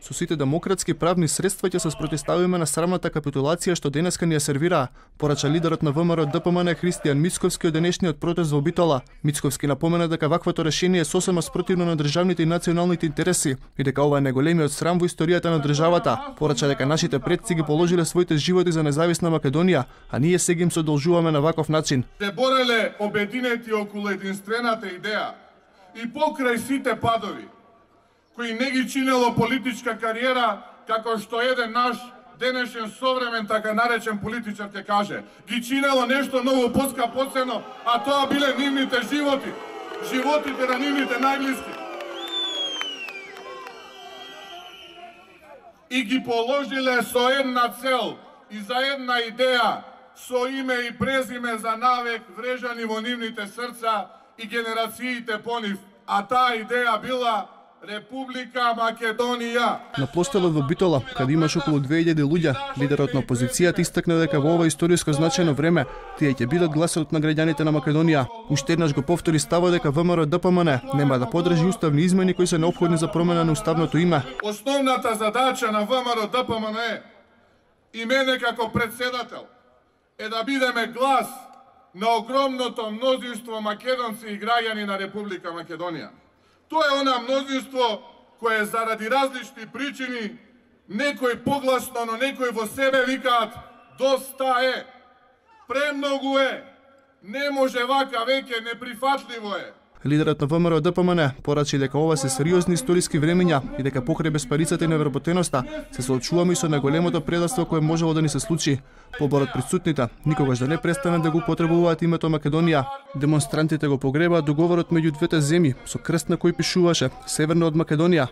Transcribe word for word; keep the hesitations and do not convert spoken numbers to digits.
Со сите демократски правни средства ќе се спротивставиме на срамната капитулација што денеска ни ја сервира, порача лидерот на ВМРО Д П М Н Христијан Мицковски од денешниот протест во Битола. Мицковски напомена дека ваквото решение е сосема спротивно на државните и националните интереси и дека ова е најголемиот срам во историјата на државата. Порача дека нашите предци ги положиле своите животи за независна Македонија, а ние сега им се одолжуваме на ваков начин. Се бореле обединети околу единствената идеја и покрај сите падови, кои не ги чинело политичка кариера, како што еден наш денешен современ, така наречен политичар ќе каже. Ги чинело нешто многу поскапоцено, а тоа биле нивните животи, животите на нивните најблиски. И ги положиле со една цел и за една идеја, со име и презиме за навек врежани во нивните срца и генерациите по нив, а таа идеја била Република Македонија. На площадот во Битола, каде имаш околу две илјади луѓе, лидерот на опозицијата истакна дека во ова историско значајно време тие ќе бидат гласот на граѓаните на Македонија. Уште еднаш го повтори ставот дека В М Р Д П М Н нема да подржи уставни измени кои се неопходни за промена на уставното име. Основната задача на В М Р Д П М Н е и мене како председател е да бидеме глас на огромното мнозинство македонци и граѓани на Република Македонија. Тоа е она мнозинство кое заради различни причини, некој погласно, но некој во себе викаат доста е, премногу е, не може вака веќе, неприфатливо е. Лидерот на В М Р Д П М Н порачи дека ова се сериозни историски времиња и дека покрај безпарицата и невработеноста се соочуваме и со најголемото предавство кое можело да ни се случи. Поборот присутните никогаш да не престане да го потребуваат името Македонија. Демонстрантите го погребаат договорот меѓу двете земји со крст на кој пишуваше Северно од Македонија.